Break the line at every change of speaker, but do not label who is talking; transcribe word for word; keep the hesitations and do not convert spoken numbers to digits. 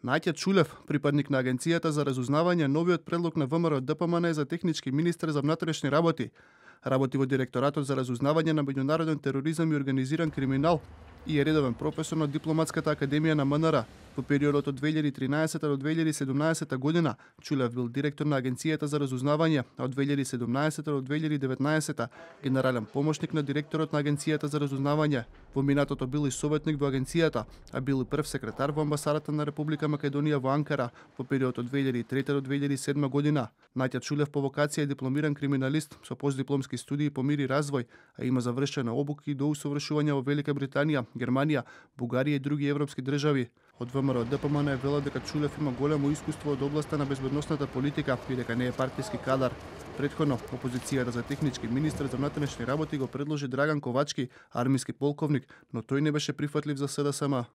Наќа Чулев, припадник на Агенцијата за разузнавање, новиот предлог на ВМРО Д П М Н за технички министер за внатрешни работи. Работи во Директоратот за разузнавање на меѓународен тероризам и организиран криминал и е редовен професор на Дипломатската академија на М Н Р. Во периодот од две илјади и тринаесета до две илјади и седумнаесета година Чулев бил директор на Агенцијата за разузнавање, а од две илјади и седумнаесета до две илјади и деветнаесета генерален помошник на директорот на Агенцијата за разузнавање. Во минатото бил и советник во агенцијата, а бил и прв секретар во амбасадата на Република Македонија во Анкара во периодот од две илјади и трета до две илјади и седма година. Наќа Чулев по вокација е дипломиран криминалист со постдипломски студии по мир и развој, а има завршена обуки и доусовршување во Велика Британија, Германија, Бугарија и други европски држави. Од ВМРО Д П М Н е велат дека Чулев има големо искуство од областа на безбедносната политика и дека не е партиски кадар. Претходно, опозицијата за технички министер за внатрешни работи го предложи Драган Ковачки, армиски полковник, но тој не беше прифатлив за С Д С М.